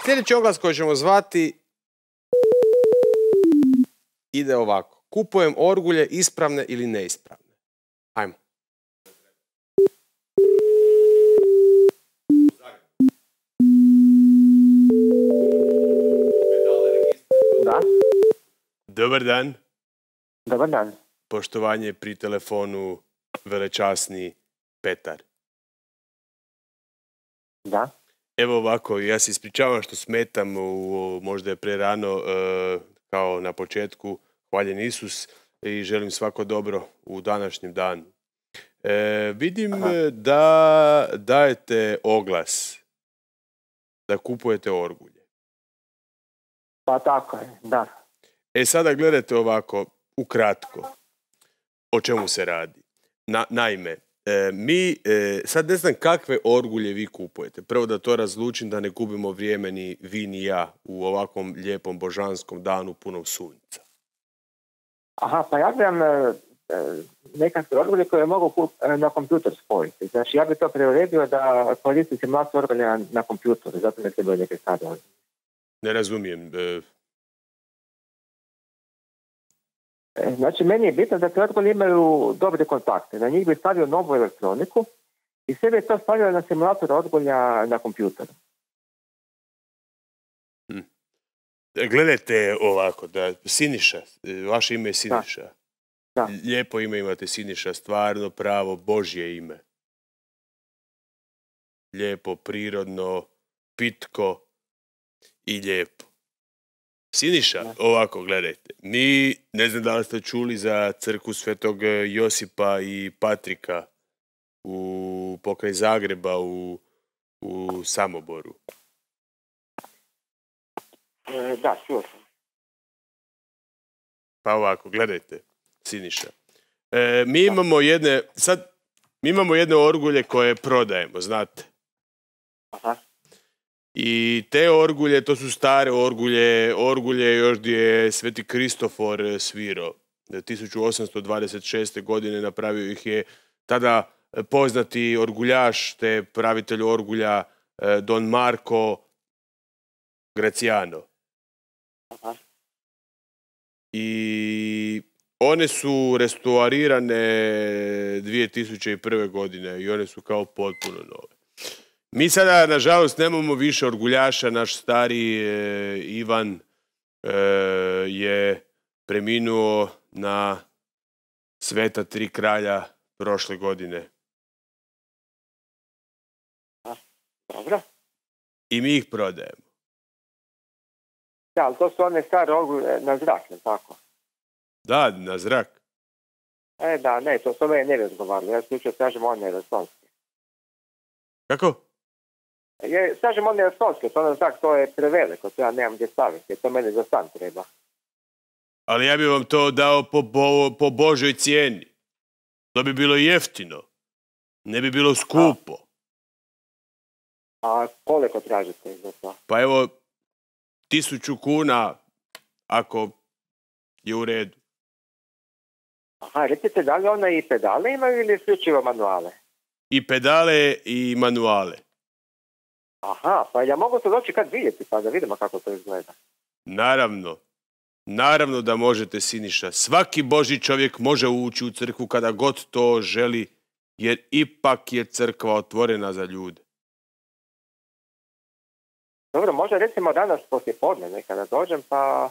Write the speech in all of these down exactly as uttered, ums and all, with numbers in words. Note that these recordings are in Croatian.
Sljedeći oglas koji ćemo zvati ide ovako. Kupujem orgulje ispravne ili neispravne. Ajmo. Da. Dobar dan. Dobar dan. Poštovanje pri telefonu velečasni Petar. Da. Evo ovako, ja se ispričavam što smetam, u, možda je prerano, e, kao na početku, hvaljen Isus i želim svako dobro u današnjem danu. E, vidim Aha. da dajete oglas, da kupujete orgulje. Pa tako je, da. E sada gledajte ovako, ukratko, o čemu se radi. Na, naime, E, mi, e, sad ne znam kakve orgulje vi kupujete. Prvo da to razlučim, da ne gubimo vrijeme ni vi ni ja u ovakvom lijepom božanskom danu punom sunca. Aha, pa ja gledam e, nekakve orgulje koje mogu kup, e, na kompjuter spojiti. Znači ja bih to preuredio da koristim simulaciju orgulja na kompjuteru, zato ne trebaju neke stvari orgulje. Ne razumijem. E... Znači, meni je bitno da te orgulje imaju dobre kontakte. Na njih bi stavio novu elektroniku i sve bi to stavio na simulator orgulja na kompjuteru. Hm. Gledajte ovako, da Siniša, vaše ime je Siniša. Da. Da. Lijepo ime imate, Siniša, stvarno pravo Božje ime. Lijepo, prirodno, pitko i lijepo. Siniša, ovako, gledajte, mi, ne znam da li ste čuli za crkvu Svetog Josipa i Patrika u pokraj Zagreba u, u Samoboru. E, da, čuo sam. Pa ovako, gledajte, Siniša. E, mi imamo jedne, sad, mi imamo jedne orgulje koje prodajemo, znate. Aha. I te orgulje, to su stare orgulje, orgulje još gdje je Sveti Kristofor svirao. tisuću osamsto dvadeset šeste. godine napravio ih je tada poznati orguljaš, te pravitelj orgulja Don Marco Graciano. Aha. I one su restaurirane dvije tisuće prve. godine i one su kao potpuno nove. Mi sada, nažalost, nemamo više orguljaša. Naš stari e, Ivan e, je preminuo na Sveta tri kralja prošle godine. Dobro. I mi ih prodajemo. Da, ali to su one stare orgulje na zrak, ne tako? Da, na zrak. E, da, ne, to su ove ne razgovarali. Ja slučaj kažem one resonske. Kako? Je, kažem one resonske, to na zrak, to je preveliko, to ja nemam gdje staviti, to meni za stan treba. Ali ja bih vam to dao po, bo, po Božoj cijeni. To bi bilo jeftino. Ne bi bilo skupo. A, a koliko tražite za to? Pa evo, tisuću kuna, ako je u redu. Aha, recite, da li ona i pedale imaju ili isključivo manuale? I pedale i manuale. Aha, pa ja mogu to doći kad vidjeti, pa da vidimo kako to izgleda. Naravno. Naravno da možete, Siniša. Svaki Božji čovjek može ući u crkvu kada god to želi, jer ipak je crkva otvorena za ljude. Dobro, možda recimo danas poslije podne nekada dođem, pa...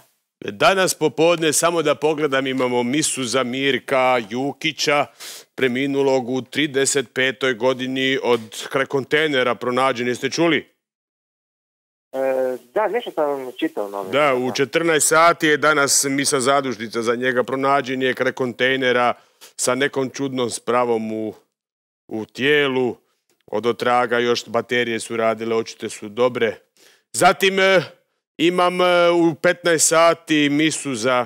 Danas popodne, samo da pogledam, imamo misu za Mirka Jukića, preminulog u trideset petoj godini od kraj kontejnera pronađen. Jeste čuli? E, da, nešto sam čitao novi. Da, u četrnaest sati je danas misa zadužnica za njega. Pronađen je kraj kontejnera sa nekom čudnom spravom u, u tijelu. Od otraga još baterije su radile, očite su dobre. Zatim imam u petnaest sati misu za,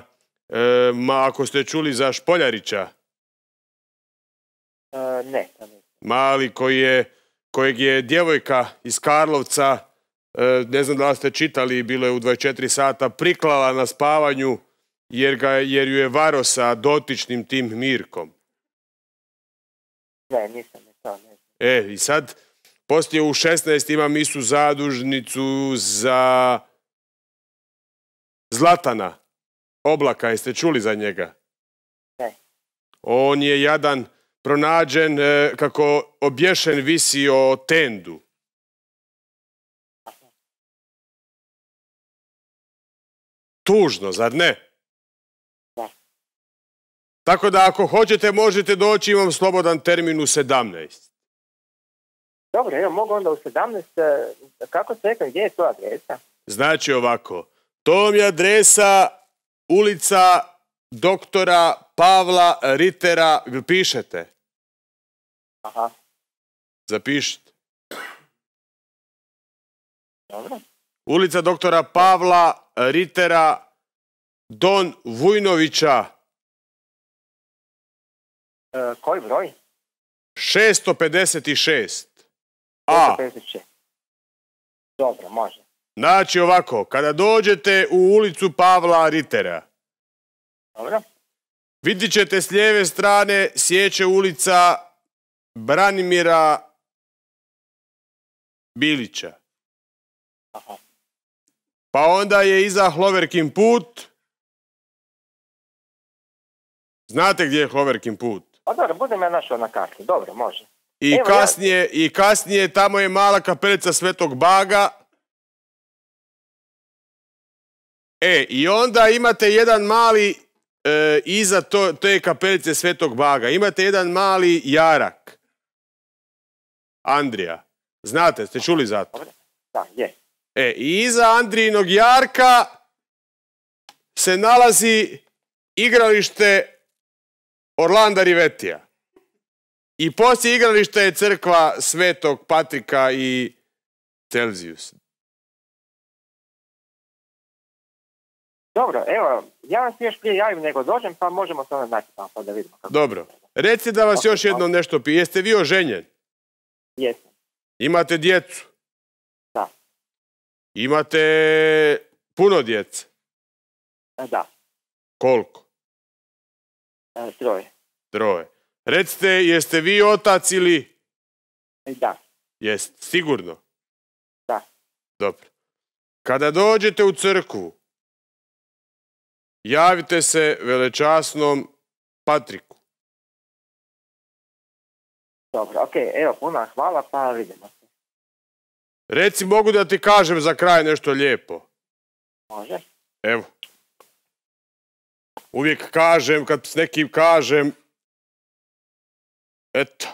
e, ma, ako ste čuli za Špoljarića. E, ne, ne. Mali koji je, kojeg je djevojka iz Karlovca, e, ne znam da li ste čitali, bilo je u dvadeset četiri sata, priklala na spavanju jer, ga, jer ju je varo sa dotičnim tim Mirkom. Ne, nisam, nisam, ne. E, i sad Poslije u šesnaest ima misu zadužnicu za Zlatana Oblaka. Jeste čuli za njega? Ne. On je jadan pronađen e, kako obješen visi o tendu. Tužno, zar ne? Da. Tako da ako hoćete možete doći, imam slobodan termin u sedamnaest. Dobro, evo mogu onda u sedamnaest. e, Kako se rekao, gdje je to adresa? Znači ovako, to vam je adresa ulica doktora Pavla Ritera. Pišete? Aha, Zapišite. dobro. Ulica doktora Pavla Ritera, Don Vujnovića, E, koji broj? šesto pedeset šest. A, pedeset šest. Dobro, može. znači ovako, kada dođete u ulicu Pavla Ritera, Dobro. vidit ćete s lijeve strane sjeće ulica Branimira Bilića. Aha. Pa onda je iza Hloverkin put. Znate gdje je Hloverkin put? Pa dobro, budem ja našao na karti. Dobro, može. I Evo, kasnije, i kasnije tamo je mala kapelica Svetog Baga. E, i onda imate jedan mali, e, iza to, te kapelice Svetog Baga, imate jedan mali jarak. Andrija. Znate, ste čuli za to? Dobro. Da, je. E, i iza Andrijinog jarka se nalazi igralište Orlanda Rivetija. I poslije igrališta je crkva Svetog Patrika i Celzijusa. Dobro, evo, ja vam se još prije javim nego dođem, pa možemo se onda naći tamo pa da vidimo. Kako Dobro. Recite da vas Ok, još jednom nešto pije. Jeste vi oženjen? Jesam. Imate djecu? Da. Imate puno djece? E, Da, Koliko? e, troje. Troje. Recite, jeste vi otac ili... E, Da, Jeste, sigurno? da. Dobro. Kada dođete u crkvu, javite se velečasnom Patriku. Dobro, ok, evo, puno hvala, pa vidimo se. Reci, mogu da ti kažem za kraj nešto lijepo? Može? Evo. Uvijek kažem, kad s nekim kažem, eto.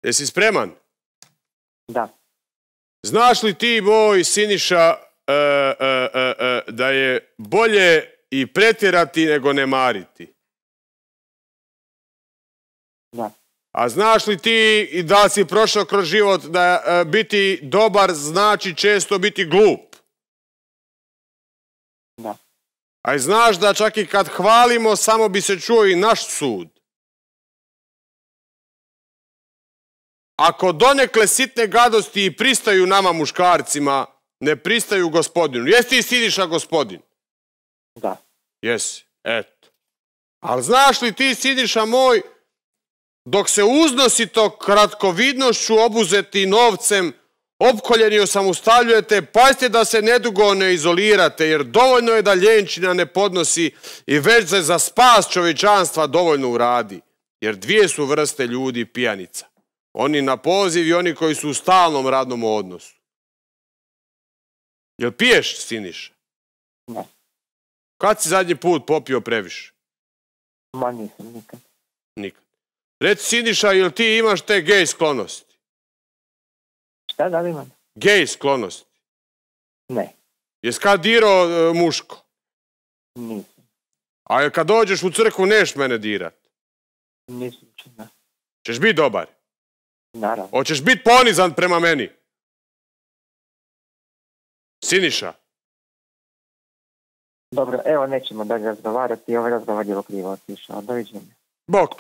Jesi spreman? Da. Znaš li ti, moj Siniša, e, e, e, e, da je bolje i pretjerati nego ne mariti? Da. A znaš li ti i da si prošao kroz život da e, biti dobar znači često biti glup? Da. A i znaš da čak i kad hvalimo samo bi se čuo i naš sud. Ako donekle sitne gadosti i pristaju nama muškarcima, ne pristaju gospodinu. Jesi ti Siniša gospodin? Da. Jesi, eto. Ali znaš li ti, Siniša moj, dok se uznosito kratkovidnošću obuzeti novcem, opkoljeni osamostaljujete, pazite da se nedugo ne izolirate, jer dovoljno je da ljenčina ne podnosi i već se za spas čovječanstva dovoljno uradi. Jer dvije su vrste ljudi pijanica. Oni na poziv i oni koji su u stalnom radnom odnosu. Jel piješ, Siniša? Ne. Kad si zadnji put popio previše? Ma nisam nikad. Nikad. Reci, Siniša, jel ti imaš te gej sklonosti? Šta da li imam? Gej sklonosti. Ne. Jes kad dirao e, muško? Nisam. A jel kad dođeš u crkvu neš mene dirat? Nisam čuna. Češ biti dobar? Naravno. Hoćeš biti ponizan prema meni? Siniša? Dobro, evo nećemo dalje razgovarati, ovaj razgovor je krivo otišao. Doviđenja. Bok.